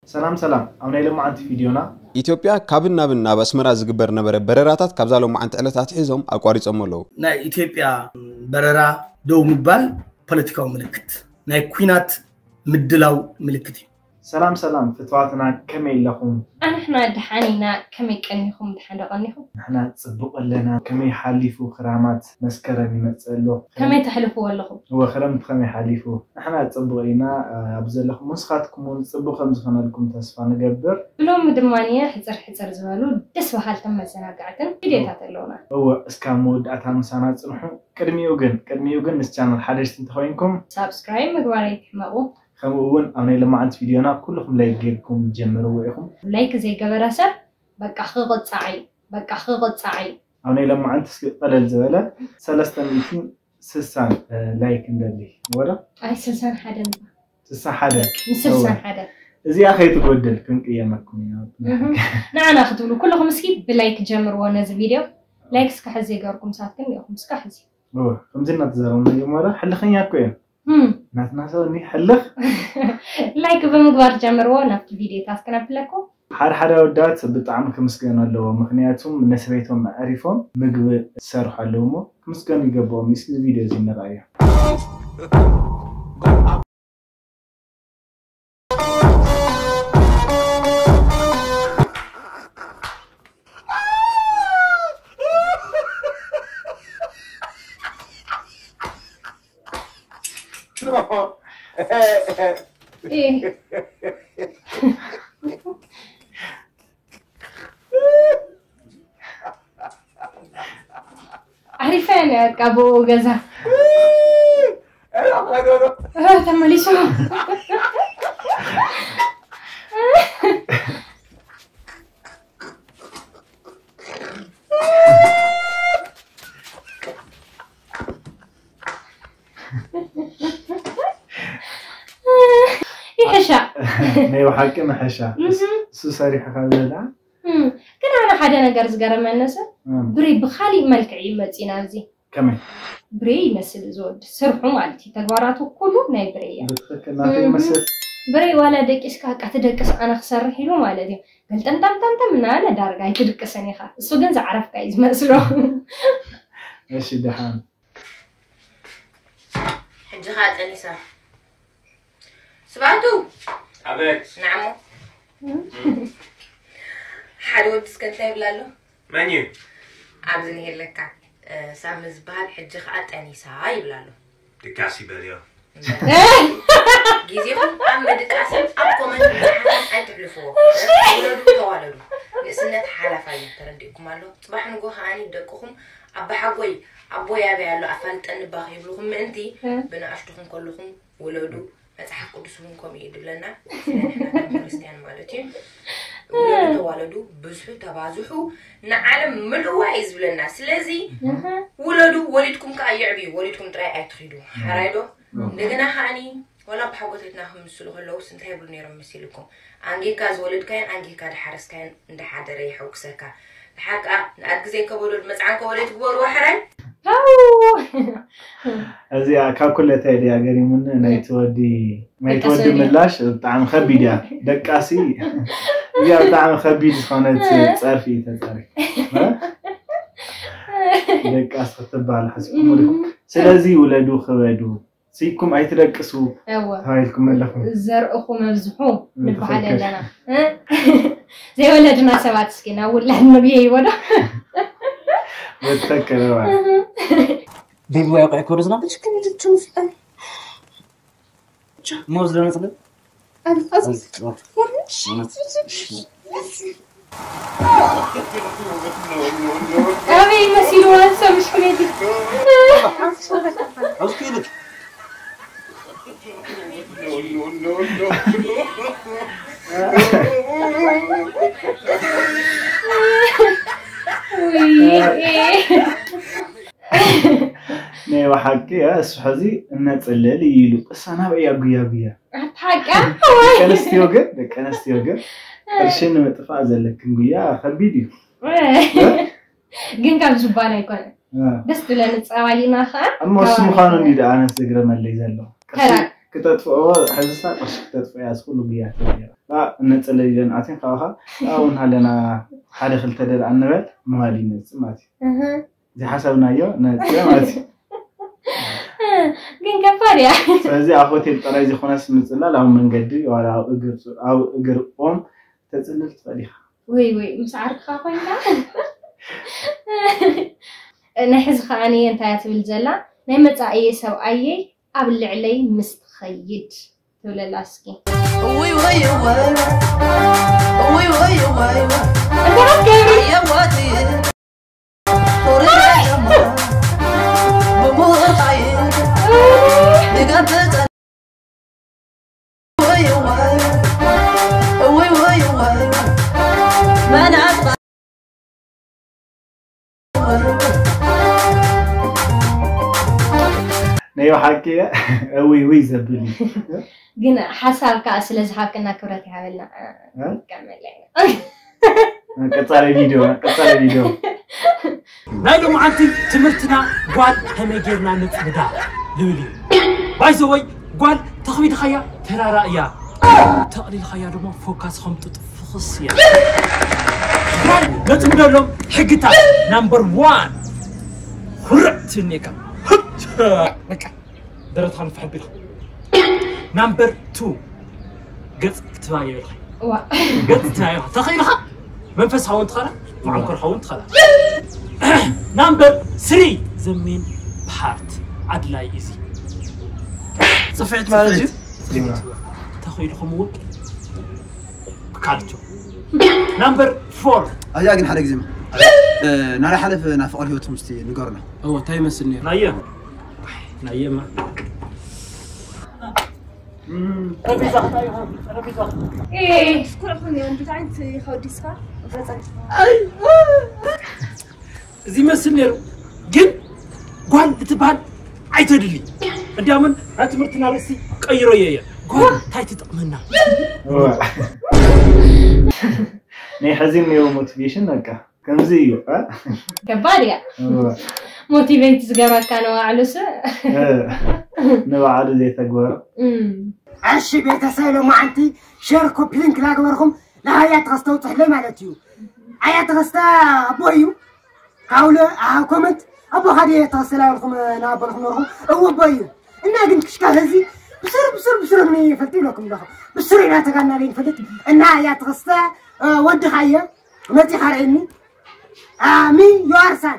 ሰላም ሰላም፣ ኣብ ናይ ሎማዓንቲ ቪድዮና ኢትዮጵያ ካብን ናብን ናብ ኣስመራ ዝግበር ነበረ በረራታት ካብዛ ሎማዓንቲ ዕለት ኣትሒዞም ኣቋሪጾም ኣለዉ። ናይ ኢትዮጵያ በረራ ደው ምባል ፖለቲካዊ ምልክት፣ ናይ ኲናት ምድላው ምልክት እዩ። ሰላም ሰላም ፍትዋትና፣ ከመይ ኣለኹም? ኣንሕና ደሓን ኢና። ከመይ ቀኒኹም? ደሓን ዶ ቀኒኹም? ንሕና ጽቡቕ ኣለና። ከመይ ሓሊፉ ክራማት? መስከረም ይመጽእ ኣሎ። ከመይ ተሕልፍዎ ኣለኹም? እወ፣ ክረምቲ ከመይ ሓሊፉ? ንሕና ጽቡቕ ኢና። ኣብ ዘለኹም ንስኻትኩም እውን ጽቡቕ ከም ዝኾነልኩም ተስፋ ንገብር። ብሎሚ ድማ ሕጽር ሕጽር ዝበሉ ደስ በሃልትን መዘናጋዕትን ቪድዮታት ኣለውና። እወ፣ እስካብ መወዳእታ ምሳና ጽንሑ። ቅድሚኡ ግን ቅድሚኡ ግን ምስ ቻነል ሓደሽቲ እንተኾይንኩም ሳብስክራይብ ምግባር ኣይትሕመቑ። ከምኡ እውን ኣብ ናይ ለማዓንቲ ቪድዮና ኩልኹም ላይክ ጌርኩም ጀምርዎ ኢኹም። ላይክ ዘይገበረ ሰብ በቃ ክቕጻዕ እዩ፣ በቃ ክቕጻዕ እዩ። ኣብ ናይ ለማዓንቲ እስኪ ቀለል ዝበለ ሰለስተ ሚእትን ስሳን ላይክ እንደሊ ወላ ኣይ ስልሳን ሓደን ስሳ ሓደ ምስ ስልሳን ሓደ እዚኣ ከይትጎድል ክንቅየመኩም ኢና። እህ፣ ንዓና ክትብሉ ኩልኹም እስኪ ብላይክ ጀምርዎ ነዚ ቪድዮ። ላይክ እስካ ሕዚ ይገርኩም ሳትክን ኢኹም እስካ ሕዚ እወ፣ ከምዚ እናተዛረብና እዮም። ዋላ ሕልኸኛ እኮ እዮም። እም፣ ናትና ሰብ እኒ ሕልኽ። ላይክ ብምግባር ጀምርዎ። ናብቲ ቪድዮታት ክነብለኩም። ሓደ ሓደ ኣወዳት ብጣዕሚ ክምስገኑ ኣለዎ፣ ምክንያቱም ንሰበይቶም ኣዕሪፎም ምግቢ ዝሰርሑ ኣለዉ እሞ ክምስገኑ ይገብኦም። እስኪ እዚ ቪድዮ እዚ ንርኣዮ። ዓሪፈ እየ በቃ ብኡ ገዛ ተመሊሱ ይሕሻ ናይ ብሓቂ ንሕሻ እሱ ሰሪሑ ካብ ዘላ ግን ኣነ ሓደ ነገር ዝገረመኒ ሰብ ብሬ ብካሊእ መልክዕ እዩ መፂና ኣብዚ ከመይ ብሬ ይመስል እዚ ወዲ ስርሑ ማለት እዩ ተግባራቱ ኩሉ ናይ ብሬ እያ ብትክክል ናተይ ይመስል ብሬ ዋላ ደቂስካ በቃ ትደቅስ ኣነ ክሰርሕ ኢሉ ማለት እዩ ገልጠምጠምጠምጠም እናበለ ዳርጋ ኣይትድቅስን ኢኻ እሱ ግን ዝዓረፍካ እዩ ዝመስሎ እሺ ደሓን ሕጂ ኸዓ ጠኒሳ ስብኣቱ ኣቤት ንዓሞ ሓደ ወዲ እስከ እንታይ ይብላ ኣሎ መን እዩ ኣብዚ ንሄለካ ሳሚ ዝበሃል ሕጂ ከዓ ጠኒሳ ይብላ ኣሎ ድቃስ ይበልዮ ግዜኹም ኣብ ምድቃስን ኣብ ኮመንት ምድሓንን ኣይትሕልፍዎ ውለዱ ተዋለዱ ንእስነት ሓላፋ እዩ ተረዲእኩም ኣሎ ፅባሕ ንጎ ከዓኒ ደቅኹም ኣባሓጎይ ኣቦይ ኣበይ ኣሎ ኣፋልጠኒ እባ ከይብልኹም ምእንቲ ብንኣሽቱኹም ከለኹም ውለዱ መፅሓፍ ቅዱስ እውን ከምኡ እዩ ድብለና ስለ ንሕና ከም ክርስትያን ማለት እዩ ውለዱ ተዋለዱ ብዝሑ ተባዝሑ ንዓለም ምልእዋ እዩ ዝብለና ስለዚ ውለዱ ወሊድኩም ከዓ የዕብዩ ወሊድኩም ጥራይ ኣይትኺዱ ሓራይ ዶ እንደገና ከዓኒ ዋላ ኣቦሓጎታትና ክምስሉ ከለውስ እንታይ ይብሉ ነይሮም መሲልኩም ኣንጊካ ዝወለድካዮን ኣንጊካ ድሓረስካዮን እንዳሓደረ ይሐጉሰካ ድሓር ከዓ ንኣድጊ ዘይከበዶ ድመፅዓን ከበዶ ትግበርዎ ሕራይ እዚኣ ካብ ኩለታይ ድያ ገሪሙኒ ናይቲ ወዲ ናይቲ ወዲ ምላሽ ብጣዕሚ ከቢድ እያ ደቃሲ እዚኣ ብጣዕሚ ከቢድ ዝኾነት ፀርፊ እዩ ተፀሪ ደቃስ ክትበሃል ሓስብኩም ስለዚ ውለዱ ክበዱ ስይኩም ኣይትደቅሱ እወ ተባሂልኩም ኣለኹም። ዘርእኹም ኣብዝሑ ንበሃል ትኽክል። ኣለና። እ? ዘይወለድና ሰባት እስኪ ናብ ውላድ ንብየ ይበዶ። በትኽክል እዋ። ቤቢ ዋይ ቆይ ኮርዝና ብትክክል ትምፍጠን። ሞዝ ለነጽለ ኣበይ መሲልዋ ሰብ ምሽክለቲ ናይ ብሓቂ እሱ ሕዚ እነፅልል እዩ ኢሉ እሳ ናበይ እያ ጉያ ጉያ ሓቃ ደቂ ኣንስትዮ ግን ደቂ ኣንስትዮ ግን ቅርሺ ንምጥፋእ ዘለክን ጉያ ከቢድ እዩ ግን ካብ ዝባል ኣይኮነ ደስ ትብለኒ ፀባይና ከዓ እሞ እሱ ምዃኑ እንዲ ደኣ ኣነስ ዝግረመለይ ዘሎ ተራ ክተጥፍኦ ሕዝሳ ቅርሺ ክተጥፍኦ እያ ዝኩሉ ግያት ነይራ። እነፀለለን ኣትን ካብኻ ኣብኡ እናሃለና ሓደ ክልተ ደርኣ እንበል ምባል ይመፅእ ማለት እዩ። ዝሓሰብናዮ ነፅእ ማለት እዩ። ግን ከባድ እያ። ስለዚ ኣብ ሆቴል ጥራይ ዘይኮነስ ምፅላል ኣብ መንገዲ ዋላ ኣብ እግር ኦም ተፅልል ትኽእል ኢኻ። ወይ ወይ ምስ ዓርክኻ ኮይንካ ናይ ሕዚ ከዓኒ እንታይ እያ ትብል ዘላ ናይ መፃእየ ሰብኣየይ ኣብ ልዕለይ ምስ ትኸይድ ትብለላ እስኪ ውይ ወይ ወይ ውይ ወይ ወይ እንተረከቢ የዋት ናይ ብሓቂ እውይ ውይ ዘብል እዩ። ግን ሓሳብ ከዓ ስለ ዝሃብክና ክብረት ይሃበልና። ቀመለይ ቀፃሊ ቪድዮ ቀፃሊ ቪድዮ ናይ ሎምዓንቲ ትምህርትና ጓል ከመይ ጌርና ነፅምዳ ዝብል እዩ። ባይዘወይ ጓል ተኽቢድኻያ ተራራ እያ፣ ተቕሊልኻያ ድማ ፎካስ ከም ጡጥ ፍኽስ እያ። ጓል ነፅምደሎም ሕግታት ናምበር ዋን ኩርዕ ትንካ በቃ ደረትኻ ንፍሕ ኣቢልካ ናምበር ቱ ገፅ ክትባዮ ኢልካ ዋ ገፅ ትባዮ ተኽኢልካ መንፈሳዊ እንትኸላ መዓኮርካ እውን ትኸላ ናምበር ስሪ ዘሜን ፓርት ኣድላይ እዚ ፅፍዒት ማለት እዩ። ተኽኢልኩም እውን ካልቾ ናምበር ፎር ኣያ ግን ሓደ ግዜ ናዳ ሓለፈ ናብ ፍቕሪ ህይወትኩም እስቲ ንገሩና። እዎ እንታይ ይመስል ነይሩ? ናየ ናየማ ስኩል ኹን እዮም እንታይ ዓይነት ኢኻ ወዲስካ? እዚ ይመስል ነይሩ ግን ጓል እትበሃል ኣይተድሊ እንዲያምን ናይ ትምህርትና ርእሲ ቀይሮ እየ እየ ጓል እንታይ ትጠቕመና ናይ ሕዚ እኒኦ ሞቲቬሽን በቃ ከምዚ እዩ እ? ከባድ እያ እወ። ሞቲቬት ዝገብረካ ንባዕሉስ እ፣ ንባዕሉ ዘይተግበሮ እም። እሺ ቤተሰብ ሎማዓንቲ ሸር ኮፒ ሊንክ ላገበርኩም ንሃያ ተኸስተ ውፅሕለይ ማለት እዩ። ኣያ ተኸስተ ኣቦ እዩ ካብለ ኣብ ኮመንት ኣቦ ካዲ ተኸስተ ላበልኩም ንኣቦልኩም ነርኹም እወ ኣቦ እዩ እና ግን ክሽካ ህዚ ብስር ብስር ብስር ምን ይፈልጥ ይለኩም ኣለኹ ብስር ኢና ተጋና ይፈልጥ እና ኣያ ተኸስተ ወድኻየ መፂኻ ርእኒ ሚ ዮሃርሳን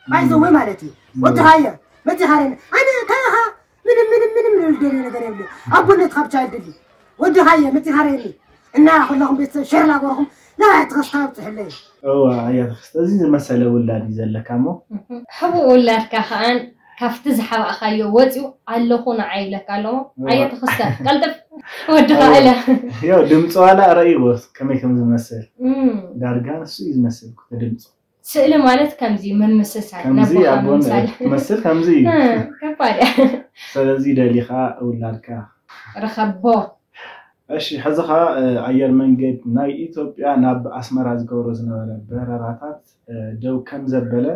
ባይዘወ ማለት እዩ ወድኻየ መፂኻ ርእኒ ኣነ ካኻ ምንም ምንም ምንም ልደልዮ ነገር የብለ ኣቦነትካ ብቻ ይደሊ ወድኻየ መፂኻ ርእኒ እና ኩለኹም ቤተሰብ ሸር ላገርኹም ንባይ ተኸስታ ብፅሕለይ እዋ ኣያ ተኸስተ እዚ ዝመሰለ ውላድ እዩ ዘለካ እሞ ሕቡእ ውላድካ ከዓን ካብቲ ዝሓባእካዮ ወፂኡ ኣለኹ ንዓይ ይብለካ ኣለዎ ኣየ ተኸስተ ቀልጥፍ ወድኻ እለ ያው ድምፂ ዋላ ረእይዎ ከመይ ከም ዝመስል እም፣ ዳርጋ ንሱ እዩ ዝመስል ኩተ ድምፂ ስእሊ ማለት ከምዚ ምምስሳል ከምዚ ነቦኻ ኣቦን ምምሳል ትመስል ከምዚ እዩ እም፣ ከባድ እያ ስለዚ ደሊኻ ውላድካ ርኸቦ እሺ ሕዚ ኸዓ ኣየር መንገድ ናይ ኢትዮጵያ ናብ ኣስመራ ዝገብሮ ዝነበረ በረራታት ደው ከም ዘበለ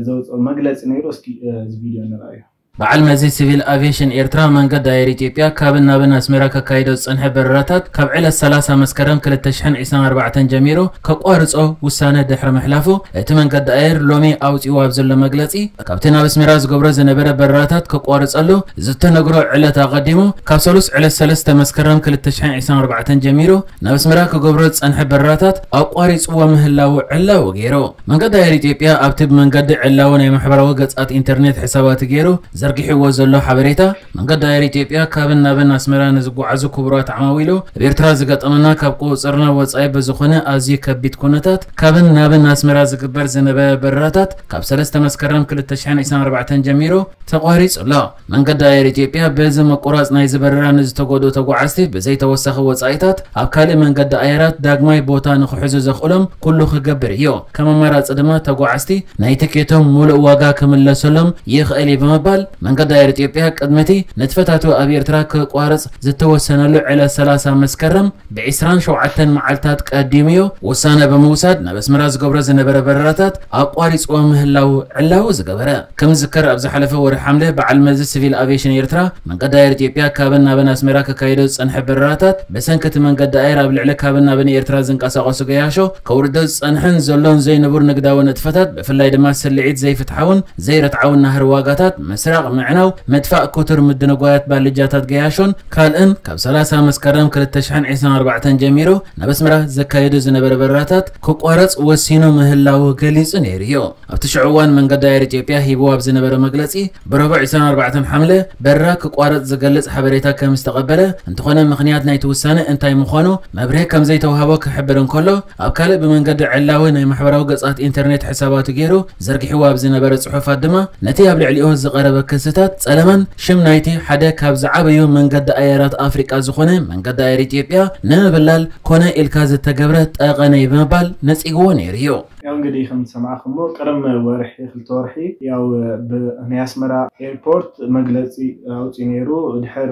ዘውፅኦ መግለፂ ነይሩ እስኪ እዚ ቪድዮ ንርኣዮ በዓል መዚ ሲቪል ኣቪየሽን ኤርትራ መንገዲ ኣየር ኢትዮጵያ ካብን ናብን ኣስመራ ከካይዶ ዝጸንሐ በረራታት ካብ ዕለት ሰላሳ መስከረም ክልተ ሽሕን ዕስራን ኣርባዕተን ጀሚሩ ከቋርጾ ውሳነ ድሕሪ ምሕላፉ እቲ መንገዲ ኣየር ሎሚ ኣውጺኡ ኣብ ዘሎ መግለጺ ካብቲ ናብ ኣስመራ ዝገብሮ ዝነበረ በረራታት ከቋርጸሉ ዝተነግሮ ዕለት ኣቐዲሙ ካብ ሰሉስ ዕለት ሰለስተ መስከረም ክልተ ሽሕን ዕስራን ኣርባዕተን ጀሚሩ ናብ ኣስመራ ክገብሮ ዝጸንሐ በረራታት ኣቋሪጽዎ ምህላዉ ዕላዊ ገይሩ። መንገዲ ኣየር ኢትዮጵያ ኣብቲ ብመንገዲ ዕላዊ ናይ ማሕበራዊ ገጻት ኢንተርኔት ሕሳባቱ ገይሩ ዘርጊሕዎ ዘሎ ሓበሬታ መንገዲ ኣየር ኢትዮጵያ ካብን ናብን ኣስመራ ንዝጓዓዙ ክቡራት ዓማዊሉ ኣብ ኤርትራ ዝገጠመና ካብ ቁጽጽርና ወጻኢ ብዝኾነ ኣዝዩ ከቢድ ኩነታት ካብን ናብን ኣስመራ ዝግበር ዝነበረ በረራታት ካብ ሰለስተ መስከረም ክልተ ሽሕን ዕስራን ኣርባዕተን ጀሚሩ ተቋሪጹ ኣሎ። መንገዲ ኣየር ኢትዮጵያ በዚ ምቁራጽ ናይዚ በረራ ንዝተጎድኡ ተጓዓዝቲ ብዘይ ተወሳኺ ወጻኢታት ኣብ ካልእ መንገዲ ኣየራት ዳግማይ ቦታ ንኽሕዙ ዘኽእሎም ኩሉ ክገብር እዩ። ከም ኣማራጺ ድማ ተጓዓዝቲ ናይ ትኬቶም ሙሉእ ዋጋ ክምለሰሎም ይኽእል እዩ ብምባል መንገዲ ኣየር ኢትዮጵያ ቅድሚ እቲ ንጥፈታቱ ኣብ ኤርትራ ክቋርጽ ዝተወሰነሉ ዕለት ሰላሳ መስከረም ብ ዕስራን ሸውዓተን መዓልታት ቀዲሙ እዩ ውሳነ ብምውሳድ ናብ ኣስመራ ዝገብሮ ዝነበረ በረራታት ኣቋሪጽዎ ምህላው ዕላዊ ዝገበረ። ከም ዝዝከር ኣብ ዝሓለፈ ወርሒ ሓምለ በዓል መዚ ሲቪል ኣቪዬሽን ኤርትራ መንገዲ ኣየር ኢትዮጵያ ካብን ናብን ኣስመራ ከካይዶ ዝጸንሐ በረራታት ብሰንኪ እቲ መንገዲ ኣየር ኣብ ልዕሊ ካብን ናብን ኤርትራ ዝንቀሳቐሱ ገያሾ ከውርዶ ዝጸንሐን ዘሎን ዘይንቡር ንግዳዊ ንጥፈታት ብፍላይ ድማ ስልዒት ዘይፍትሓውን ዘይርትዓውን ናህሪ ዋጋታት፣ ምስራቕ ምዕናው፣ ምጥፋእ ክቱር ምድንጓያት ባልጃታት ገያሾን ካልእን ካብ ሰላሳ መስከረም ክልተ ሽሕን ዕስራን ኣርባዕተን ጀሚሩ ናብ ኣስመራ ዘካየዱ ዝነበረ በረራታት ክቋረጽ ወሲኑ ምህላዉ ገሊጹ ነይሩ እዩ። ኣብቲ ሽዑ እዋን መንገዲ ኣየር ኢትዮጵያ ሂብዎ ኣብ ዝነበረ መግለጺ ብረቡዕ ዕስራን ኣርባዕተን ሓምለ በረራ ክቋረጽ ዝገልጽ ሓበሬታ ከም ዝተቐበለ እንተኾነ ምኽንያት ናይቲ ውሳነ እንታይ ምዃኑ መብርሂ ከም ዘይተዋህቦ ክሕብር እንከሎ ኣብ ካልእ ብመንገዲ ዕላዊ ናይ ማሕበራዊ ገጻት ኢንተርኔት ሕሳባቱ ገይሩ ዘርጊሕዎ ኣብ ዝነበረ ጽሑፋት ድማ ነቲ ኣብ ልዕሊኡ ዝቐረበ ክስታት ጸለመን ሽም ናይቲ ሓደ ካብ ዝዓበዩ መንገዲ ኣየራት ኣፍሪቃ ዝኾነ መንገዲ ኣየር ኢትዮጵያ ንምብላል ኮነ ኢልካ ዝተገብረ ጠቐነ እዩ ብምባል ነጺግዎ ነይሩ እዩ። ያው እንግዲህ ከም ዝሰማዕኹሞ ቅድሚ ወርሒ ክልተ ወርሒ ያው ብ- ናይ ኣስመራ ኤርፖርት መግለፂ ኣውፂኡ ነይሩ። ድሕር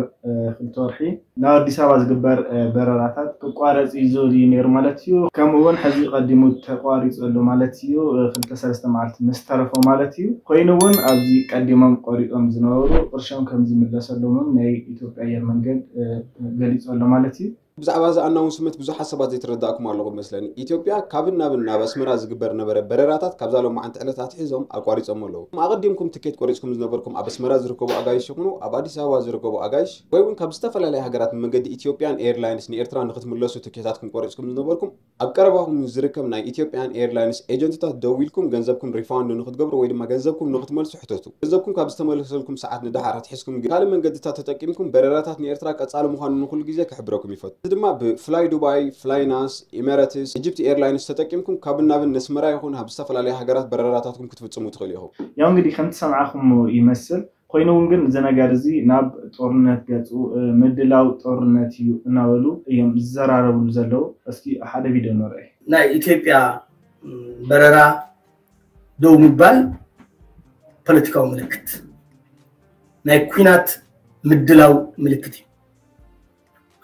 ክልተ ወርሒ ናብ ኣዲስ ኣበባ ዝግበር በረራታት ክቋረፅ እዩ ዝብል እዩ ነይሩ ማለት እዩ። ከምኡ እውን ሕዚ ቀዲሙ ተቋሪፁ ኣሎ ማለት እዩ። ክልተ ሰለስተ መዓልቲ ምስ ተረፎ ማለት እዩ። ኮይኑ እውን ኣብዚ ቀዲሞም ቆሪፆም ዝነበሩ ቅርሾም ከም ዝምለሰሎምን ናይ ኢትዮጵያ ኣየር መንገድ ገሊፁ ኣሎ ማለት እዩ። ብዛዕባ እዚ ኣናውንስመንት ብዙሓት ሰባት ዘይተረዳእኩም ኣለኹም መስለኒ። ኢትዮጵያ ካብን ናብን ናብ ኣስመራ ዝግበር ነበረ በረራታት ካብዛ ሎማዓንቲ ዕለት ኣትሒዞም ኣቋሪጾሞ ኣለዉ። ኣቐዲምኩም ትኬት ቆሪጽኩም ዝነበርኩም ኣብ ኣስመራ ዝርከቡ ኣጋይሽ ይኹኑ ኣብ ኣዲስ ኣበባ ዝርከቡ ኣጋይሽ ወይ እውን ካብ ዝተፈላለያ ሃገራት ብመንገዲ ኢትዮጵያን ኤርላይንስ ንኤርትራ ንኽትምለሱ ትኬታትኩም ቆሪጽኩም ዝነበርኩም ኣብ ቀረባኹም ዝርከብ ናይ ኢትዮጵያን ኤርላይንስ ኤጀንትታት ደዊልኩም ገንዘብኩም ሪፋንድ ንኽትገብሩ ወይ ድማ ገንዘብኩም ንኽትመልሱ ሕተቱ። ገንዘብኩም ካብ ዝተመለሰልኩም ሰዓት ንደሓር ኣትሒዝኩም ግን ካልእ መንገድታት ተጠቂምኩም በረራታት ንኤርትራ ቀጻሊ ምዃኑ ንኹሉ ግዜ ክሕብረኩም ይፈቱ። እዚ ድማ ብ Fly Dubai፣ Flynas፣ Emirates፣ Egypt Airlines ተጠቂምኩም ካብን ናብን ነስመራ ይኹን ናብ ዝተፈላለያ ሃገራት በረራታትኩም ክትፍጽሙ ትኽእሉ ኢኹም። ያው እንግዲህ ከምቲ ሰምዓኹሞ ይመስል ኮይኑ እውን ግን እዚ ነገር እዚ ናብ ጦርነት ገፁ ምድላው ጦርነት እዩ እናበሉ እዮም ዝዘራረብሉ ዘለዉ። እስኪ ሓደ ቪድዮ ንርኣይ። ናይ ኢትዮጵያ በረራ ደው ምባል ፖለቲካዊ ምልክት ናይ ኲናት ምድላው ምልክት እዩ።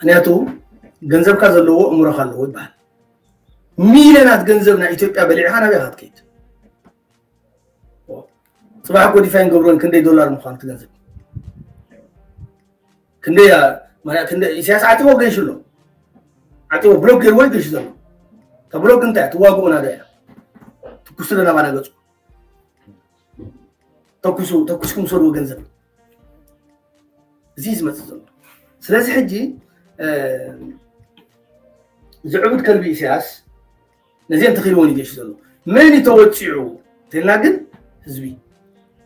ምክንያቱ ገንዘብካ ዘለዎ እምሮኻ ኣለዎ ይበሃል። ሚልዮናት ገንዘብ ናይ ኢትዮጵያ በሊዕኻ ናበይ ኢኻ ትከይድ? ፅባሕ እኮ ዲፋይን ገብሮን ክንደይ ዶላር ምዃኑ እቲ ገንዘብ ክንደይ ኢሳያስ ዓፂዎ ገይሹ ኣሎ። ዓፂዎ ብሎክ ገይርዎ ይገይሹ ዘሎ። እታ ብሎክ እንታይ እያ? ትዋግኡ ናዶ እያ? ትኩሱ ዶ ናባና ገፁ? ተኩሱ ተኩስኩም ሰድዎ ገንዘብ እዚ ዝመፅእ ዘሎ። ስለዚ ሕጂ ዝዕቡድ ከልቢ ኢሳያስ ነዚአን ተኺልዎን ይገይሹ ዘሎ። መን እዩ ተወፂዑ እንተልና ግን ህዝቢ።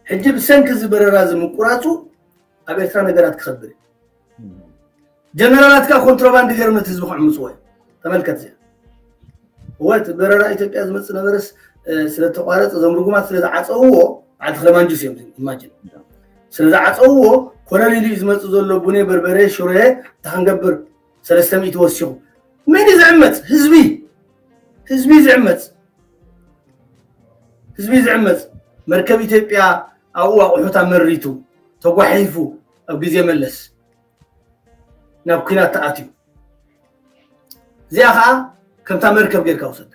ሕጂ ብሰንኪ እዚ በረራ እዚ ምቁራፁ ኣብ ኤርትራ ነገራት ክኸብር እዩ። ጀነራላት ከኣ ኮንትሮባንድ ገይሮም ነቲ ህዝቢ ክዕምፅዎ እዮም። ተመልከት እዚኣ። እወ እቲ በረራ ኢትዮጵያ ዝመፅእ ነበረስ ስለተቋረፀ እዞም ርጉማት ስለዝዓፀውዎ በዓል ተኽለማንጁስ እዮም ኢማጂን ስለዝዓፀውዎ ኮለል ኢሉ እዩ ዝመፅእ ዘሎ ቡኔ በርበሬ ሽሮየ እንታይ ክንገብር ሰለስተ ሚእቲ ወሲኹ መን እዩ ዝዕመፅ ህዝቢ ህዝቢ እዩ ዝዕመፅ ህዝቢ እዩ ዝዕመፅ መርከብ ኢትዮጵያ ኣብኡ ኣቑሑት ኣመሪቱ ተጓሒፉ ኣብ ግዜ መለስ ናብ ኲናት ተኣትዩ እዚኣ ከዓ ከምታ መርከብ ጌርካ ውሰዳ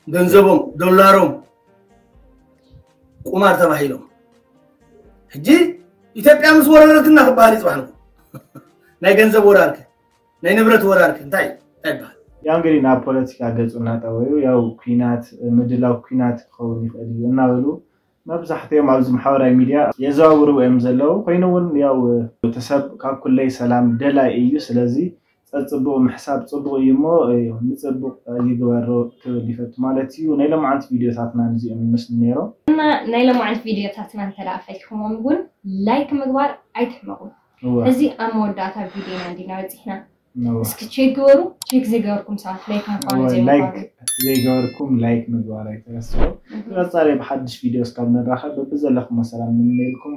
ገንዘቦም ዶላሮም ቁማር ተባሂሎም ሕጂ ኢትዮጵያ ምስ ወረረትና ክበሃል ይፅባሕ ንኩ ናይ ገንዘብ ወራርክ ናይ ንብረት ወራርክ እንታይ እንታይ ይበሃል ያው እንግዲህ ናብ ፖለቲካ ገፁ እናጠወዩ ያው ኲናት ምድላው ኲናት ክኸውን ይኽእል እዩ እናበሉ መብዛሕትኦም ኣብዚ ማሕበራዊ ሚድያ የዘዋውርዎ እዮም ዘለዉ። ኮይኑ እውን ያው እቲ ሰብ ካብ ኩለይ ሰላም ደላይ እዩ። ስለዚ ጸጽቡቕ ምሕሳብ ጽቡቕ እዩ እሞ ንጽቡቕ ይግበሮ ክብል ይፈቱ ማለት እዩ። ናይ ሎምዓንቲ ቪድዮታትና ነዚኦም ይመስሉ ነይሮም። እና ናይ ሎምዓንቲ ቪድዮታትና እንተ ደኣ ፈቲኹሞም እውን ላይክ ምግባር ኣይትሕመቑ። እወ። ሕዚ ኣብ መወዳእታ ቪድዮና እንዲና በጺሕና። እወ። እስኪ ቼክ ግበሩ። ቼክ ዘይገበርኩም ሰባት ላይክ ምዃኑ እወ፣ ላይክ ዘይምዃኑ። ዘይገበርኩም ላይክ ምግባር ኣይትረስዑ። እህ። ብቐጻሊ ብሓድሽ ቪድዮ እስካብ ንራኸብ በብዘለኹሞ ሰላም ንምነየልኩም።